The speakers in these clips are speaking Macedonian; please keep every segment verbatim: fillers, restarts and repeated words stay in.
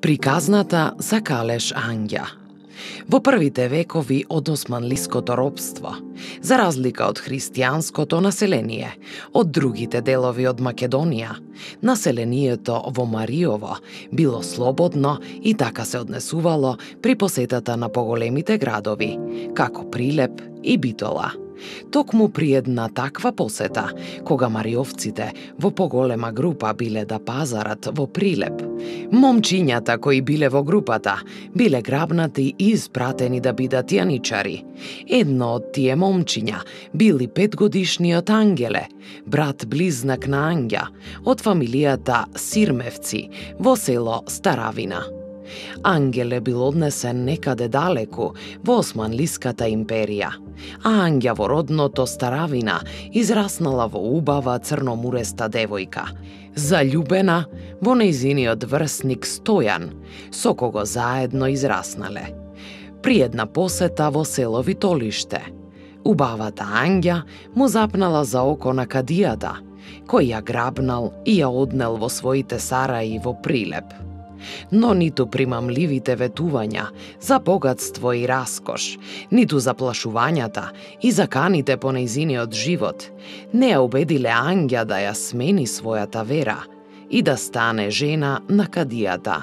Приказната за Калеш Ангја. Во првите векови од османлиското робство, за разлика од христијанското население, од другите делови од Македонија, населението во Мариово било слободно и така се однесувало при посетата на поголемите градови, како Прилеп и Битола. Токму при една таква посета, кога мариовците во поголема група биле да пазарат во Прилеп, момчињата кои биле во групата биле грабнати и испратени да бидат јаничари. Едно од тие момчиња били петгодишниот Ангеле, брат близнак на Ангја, од фамилијата Сирмевци во село Старавина. Ангеле бил однесен некаде далеку во Османлиската империја, а Ангја во родното Старавина израснала во убава црномуреста девојка, заљубена во нејзиниот врсник Стојан, со кого заедно израснале. При една посета во село Витолиште, убавата Ангја му запнала за око на кадијата, кој ја грабнал и ја однел во своите сараи во Прилеп. Но ниту примамливите ветувања за богатство и раскош, ниту заплашувањата и заканите по нејзиниот живот не ја убедиле Ангја да ја смени својата вера и да стане жена на кадијата.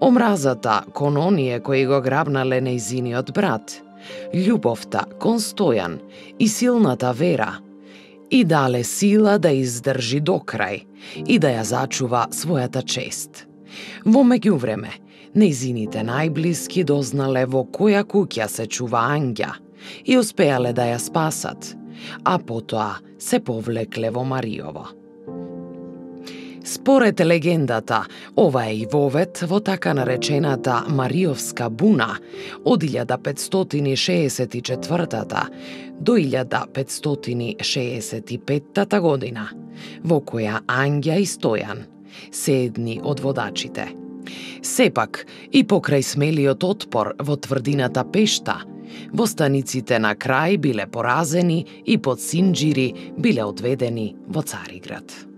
Омразата кон оние кои го грабнале нејзиниот брат, љубовта кон Стојан и силната вера и дале сила да издржи до крај и да ја зачува својата чест. Во меѓувреме, нејзините најблиски дознале во која куќа се чува Ангја и успеале да ја спасат, а потоа се повлекле во Мариово. Според легендата, ова е и вовет во така наречената Мариовска буна од илјада петстотини и шеесет и четвртата до илјада петстотини шеесет и петтата година, во која Ангја и Стојан се едни од водачите. Сепак, и покрај смелиот отпор во тврдината Пешта, востаниците на крај биле поразени и под Синџири биле одведени во Цариград.